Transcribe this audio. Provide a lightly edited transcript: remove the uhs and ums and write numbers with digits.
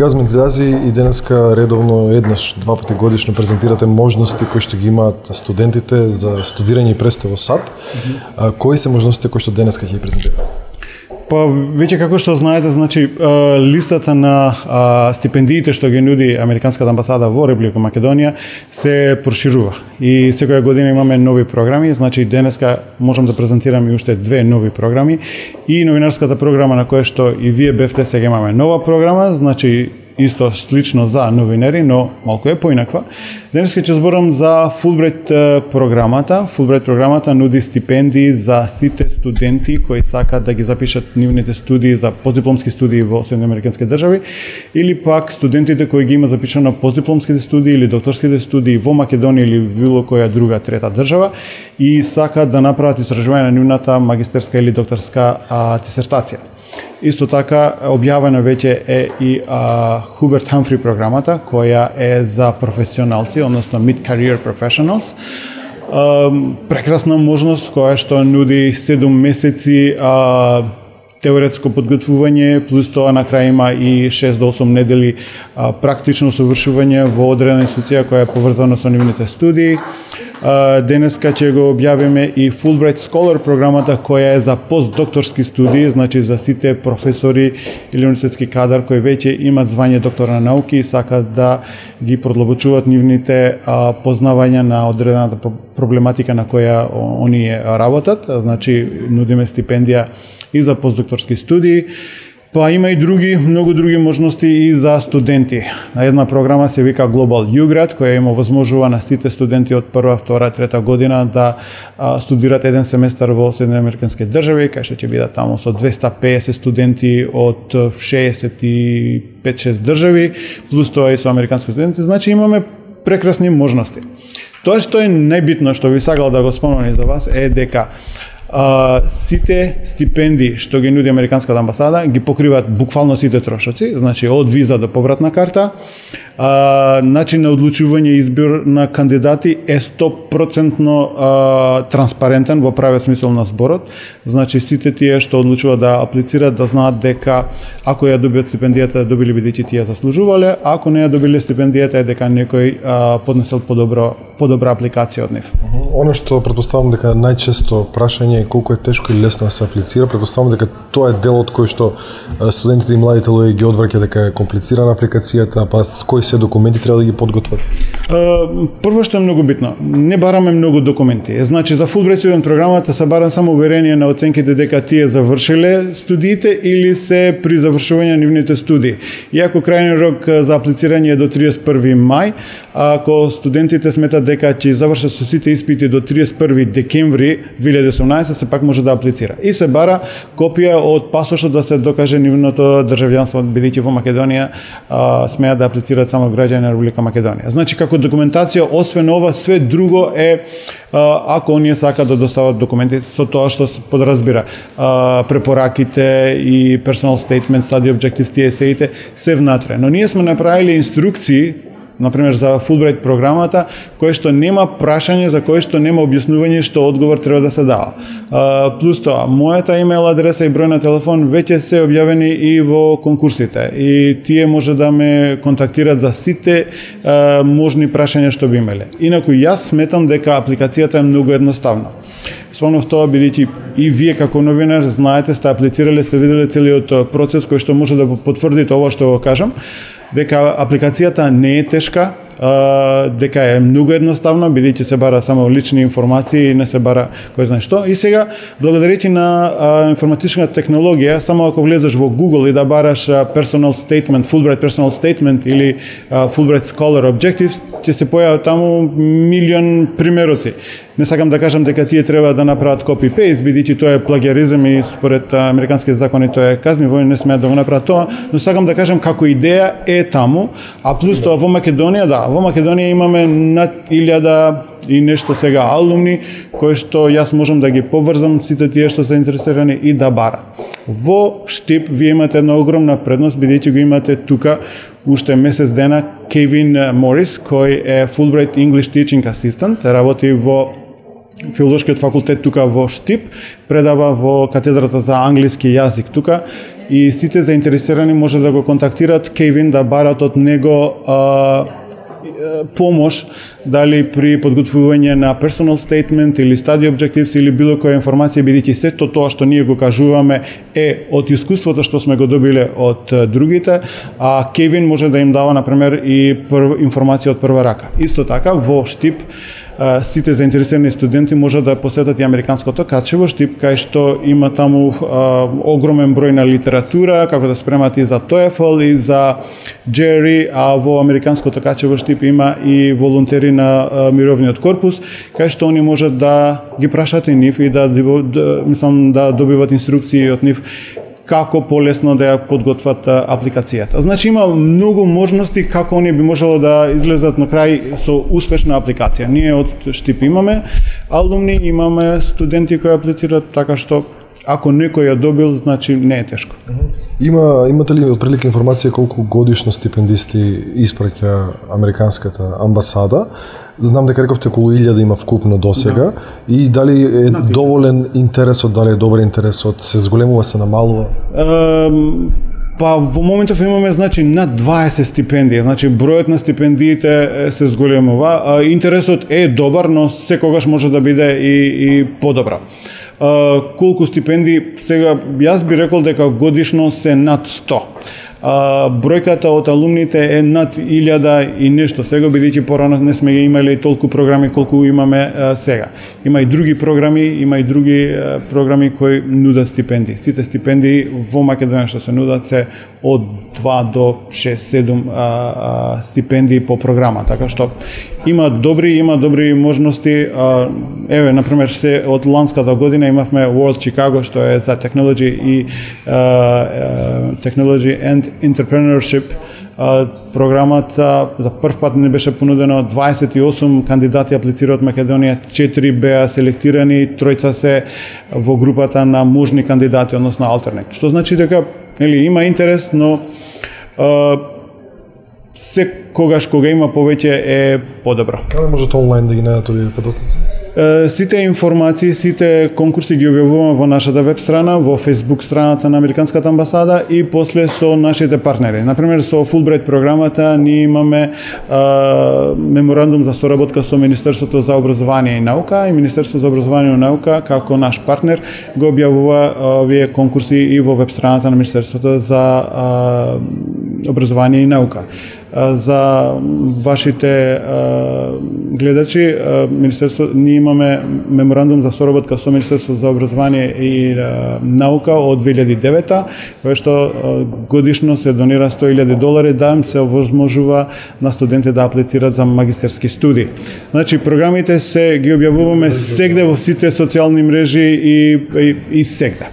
Газмен Илјази и денеска редовно еднаш, два пати годишно презентирате можности кои што ги имаат студентите за студирање и престой во САД. Кои се можностите кои што денеска ќе ги презентирате? Па веќе како што знаете, значи листата на стипендиите што ги нуди Американската амбасада во Република Македонија се проширува и секоја година имаме нови програми, значи денеска можам да презентирам и уште две нови програми и новинарската програма на која што и вие бевте, сега имаме нова програма, значи исто слично за новинари, но малку е поинаква. Денеска ќе зборам за Фулбрайт програмата. Фулбрайт програмата нуди стипендии за сите студенти кои сакаат да ги запишат нивните студии за постдипломски студии во Соединените американски држави или пак студентите кои ги има запишано постдипломските студии или докторските студии во Македонија или било која друга трета држава и сакаат да направат истражување на нивната магистерска или докторска дисертација. Исто така, објавена веќе е и Хуберт Хамфри програмата, која е за професионалци, односно Mid-Career Professionals. Прекрасна можност која што нуди 7 месеци теоретско подготвување, плюс тоа на крај има и 6 до 8 недели практично совршување во одредена институција која е поврзана со нивните студии. Денеска ќе го објавиме и Fulbright Scholar програмата која е за постдокторски студии, значи за сите професори или универзитетски кадар кои веќе имат звање доктор на науки и сакат да ги продлабочуваат нивните познавања на одредената проблематика на која оние работат, значи нудиме стипендија и за постдокторски студии. Па има и многу други можности и за студенти. Една програма се вика Global UGrad, која им овозможува на сите студенти од прва, втора, трета година да студират еден семестар во Соединените американски држави, кај што ќе бидат таму со 250 студенти од 65-6 држави, плюс тоа и со американски студенти. Значи имаме прекрасни можности. Тоа што е најбитно што ви сакал да го споменам за вас е дека сите стипендии што ги нуди Американската амбасада ги покриваат буквално сите трошоци, значи од виза до повратна карта. Начин на одлучување и избор на кандидати е 100% транспарентен во правиот смисол на зборот. Значи сите тие што одлучуваат да аплицираат да знаат дека ако ја добиат стипендијата, добили бидејќи тие заслужувале, ако не ја добиле стипендијата е дека некој поднесел подобра апликација од нив. Оно што претпоставам дека најчесто прашање е колку е тешко и лесно да се аплицира, претпоставам дека тоа е делот кој што студентите и младите луѓе ги одвраќа дека е комплицирана апликацијата, па кои се документи треба да ги подготват? Прво што е многу битно, не бараме многу документи. Значи за Fulbright Student програмата се бара само уверение на оценките дека тие завршиле студиите или се при завршување на нивните студии. Иако крајниот рок за аплицирање е до 31 мај, ако студентите сметат дека ќе завршат со сите испити до 31 декември 2018, се пак може да аплицира. И се бара копија од пасошот да се докаже нивното државјанство, бидејќи во Македонија смеат да аплицираат само граѓани на Република Македонија. Значи како документација, освен ова, све друго е ако оние сакаат да достават документи со тоа што се подразбира. Препораките и personal statement, study objectives, тие сеите се внатре. Но ние сме направиле инструкции, например за Fulbright програмата, кој што нема прашање, за кој што нема објаснување што одговор треба да се дава. Плюс тоа, мојата имейл адреса и број на телефон веќе се објавени и во конкурсите и тие може да ме контактират за сите можни прашања што би имеле. Инаку јас сметам дека апликацијата е многу едноставна. Спомнав тоа бидејќи и вие како новинар знаете, сте аплицирале, сте виделе целиот процес кој што може да потврдите ова што го кажам, дека апликацијата не е тешка, дека е многу едноставно, бидејќи се бара само лични информации и не се бара кој знае што. И сега, благодарејќи на информатичната технологија, само ако влезеш во Google и да бараш personal statement, Fulbright personal statement или Fulbright Scholar Objectives, ќе се појават таму милион примероци. Не сакам да кажам дека тие треба да направат copy-paste, бидејќи тоа е плагиаризам и според американските закони тоа е казниво и не смеат да го направат тоа, но сакам да кажам како идеја е таму, а плюс тоа во Македонија, да, во Македонија имаме над 1000 и нешто сега алумни, кои што јас можам да ги поврзам сите тие што се интересирани и да барат. Во Штип вие имате една огромна предност, бидејќи го имате тука уште месец дена Кевин Морис, кој е Fulbright English Teaching Assistant, работи во Филолошкиот факултет тука во Штип, предава во катедрата за англиски јазик тука и сите заинтересирани може да го контактираат Кевин, да барат од него помош, дали при подготвување на personal statement или study objectives или било која информација, бидејќи сето тоа што ние го кажуваме е од искуството што сме го добиле од другите, а Кевин може да им дава, например, и информација од прва рака. Исто така, во Штип, сите заинтересирани студенти може да посетат и Американското каче во Штип, кај што има таму огромен број на литература, како да спремат и за TOEFL и за GRE, а во Американското каче во Штип има и волонтери на мировниот корпус, кај што они можат да ги прашат и нив и да добиват инструкции од нив како полесно да ја подготват апликацијата. Значи има многу можности како они би можело да излезат на крај со успешна апликација. Ние од Штип имаме алумни, имаме студенти кои аплицираат, така што ако некој ја добил, значи не е тешко. Имате ли отприлика информација колку годишно стипендисти испраќа Американската амбасада? Знам дека рековте околу 1000 има вкупно досега, и дали е доволен интересот, дали е добар интересот, се зголемува, се намалува? Па во моментов имаме, значи, над 20 стипендии, значи бројот на стипендиите се зголемува. Интересот е добар, но секогаш може да биде и подобро. Колку стипендии, сега јас би рекол дека годишно се над 100. Бројката од алумните е над 1000 и нешто сега, бидејќи порано не сме имали толку програми колку имаме сега. Има и други програми кои нудат стипендии. Сите стипендии во Македонија што се нудат се од 2 до 6-7 стипендии по програма, така што има добри можности. Еве, например, се од ланската година имавме World Chicago, што е за technology and entrepreneurship. Програмата за прв пат не беше понудено, 28 кандидати аплицира од Македонија, 4 беа селектирани, 3 се во групата на можни кандидати, односно alternate. Што значи дека има интерес, но секогаш кога има повеќе е подобро. Каде можете онлайн да ги најдете овие податоци? Сите информации, сите конкурси ги објавуваме во нашата веб страна, во Facebook страната на Американската амбасада и после со нашите партнери. Например, со Fulbright програмата ние имаме меморандум за соработка со Министерството за образование и наука, и Министерството за образование и наука како наш партнер го објавува овие конкурси и во веб страната на Министерството за образование и наука. За вашите гледачи, ние имаме меморандум за соработка со Министерството за образование и наука од 2009, кој што годишно се донира $100,000 да им се овозможува на студенти да аплицираат за магистерски студии. Значи, програмите се ги објавуваме сегде во сите социјални мрежи и сегде.